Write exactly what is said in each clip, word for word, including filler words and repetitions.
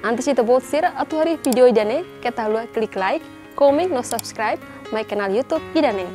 Antes ita-boot sira atu haree vídeo ida-ne'e, keta haluha klik like, komen no subscribe mai kanál YouTube ida-ne'e.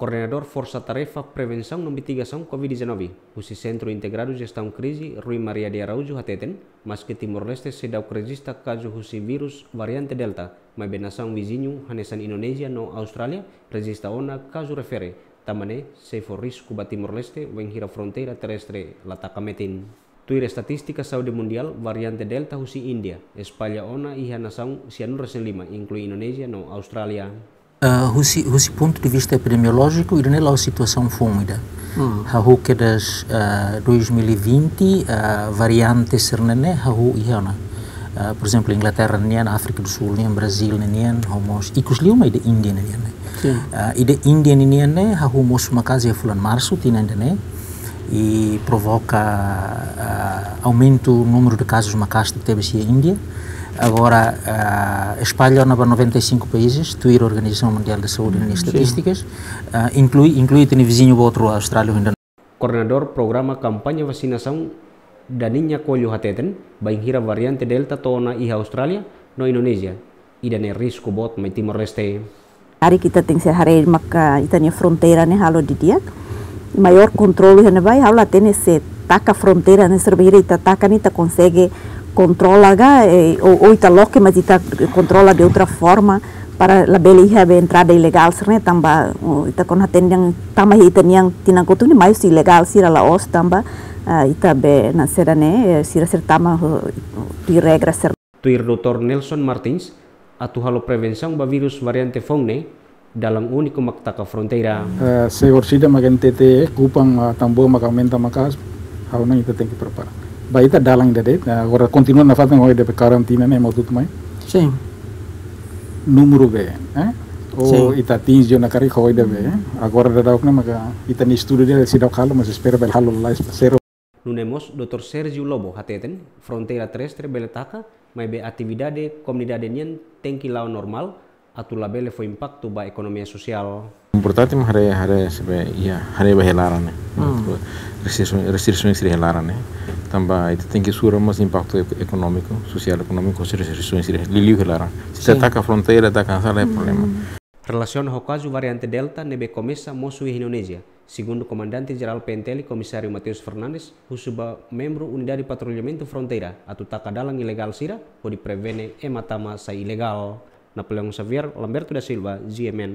Koordenadór Forsa Tarefa Prevensaun no Mitigasaun COVID dezanove, husi Sentru Integradu Jestaun Krize, Rui Maria de Araújo hateten, maske Timor-Leste seidauk rejista kazu husi vírus variante Delta, maibé nasaun viziñu hanesan Indonézia no Austrália rejista ona kazu refere, tanba ne'e sei fó risku ba Timor-Leste wainhira fronteira terrestre la taka metin. Tuir estatístika Saúde Mundiál, variante Delta husi Índia espalla ona iha nasaun sianulu-resin-lima, inklui Indonézia no Austrália. Ah, husi, husi pontu de vista epidemiolójiku, ida-ne'e la'ós situasaun foun ida. Hmm. Hahú kedas, ah, dois mil e vinte, ah, variante sira-ne'e hahú iha ona. Ah, por ezemplu, Inglaterra nian, Áfrika do Sul nian, Brazíl nian, hahú mós ikus liu mai ida Índia nian. Sin. Ah, ida Índia nian ne'e hahú mosu maka'as iha fulan Marsu tinan ida-ne'e, i provoka, ah, aumentu númeru de kazus maka'as tebes iha Índia. Agora, ah, espalla ona ba noventa e cinco países, tuir Organizasaun Mundiál de Saúde nia estatístikas, ah, inklui, inklui ita-nia viziñu boot rua Austrália, Indonézia. Koordenadór Programa Kampaña Vasinasaun, Daninha Coelho hateten, bainhira variante Delta to'o ona iha Austrália no Indonézia, ida-ne'e risku boot mai Timor-Leste. Karik ita tenke haree maka ita-nia fronteira ne'e halo didi'ak. Maiór kontrolu iha ne'ebá, ha'u la hatene se taka fronteira ne'e, se bainhira ita taka ne'e ita konsege kontrola ka, eh, ou, ou ita loke, mas ita kontrola de outra forma para labele iha be entrada ilegál sira-ne'e, tanba, oh, ita kuandu hatene dehan tama iha ita-nian tinan kotuk ne'e, mais ilegál sira la'ós tanba, ah, ita be na sira ne'e, eh, sira, sira tama, oh, tuir regra sira. Tuir doutór Nelson Martins, atu halo prevensaun ba vírus variante foun ne'e, dalan úniku mak taka fronteira. Eh, se orsida mak N T T, kupan, ah, tan boot mak aumenta maka'as, ha'u hanoin ita tenke prepara. Ba ita dalan ida de'it, ah, agora kontinua nafatin ho ida be karantina ne'e, ema hotu mai. Sin. Númeru be, eh? Ou sin, ita atinje ona karik ho ida be, eh? Agora daudauk ne'e maka ita-nia estudu de'it seidauk halo, mas espera bele halo lai sero. Nune'e mós doutór Sérgio Lobo hateten, fronteira terrestre bele taka, maibé atividade komunidade nian tenke la'o normál, atu labele fó impaktu ba ekonomia sosiál. Importante mak haree, haree se be, iha, haree ba iha laran ne'e. Hmm. Restrisaun, restrisaun sira iha laran ne'e. Tanba ita tenke sura mós impaktu ek-, ekonómiku, sosiál ekonómiku, restrisaun sira liuliu iha laran. Se ita, sin, taka fronteira, taka hanesan lae problema. Hmm. Relasiona ho kazu variante Delta ne'ebé komesa mosu iha Indonézia, segundu Komandante Jerál P N T L Komisáriu Mateus Fernandes, husu ba membru Unidade Patrullamentu Fronteira atu taka dalan ilegál sira hodi prevene ema tama sai ilegál. Napoleão Xavier, Lamberto da Silva, G M N.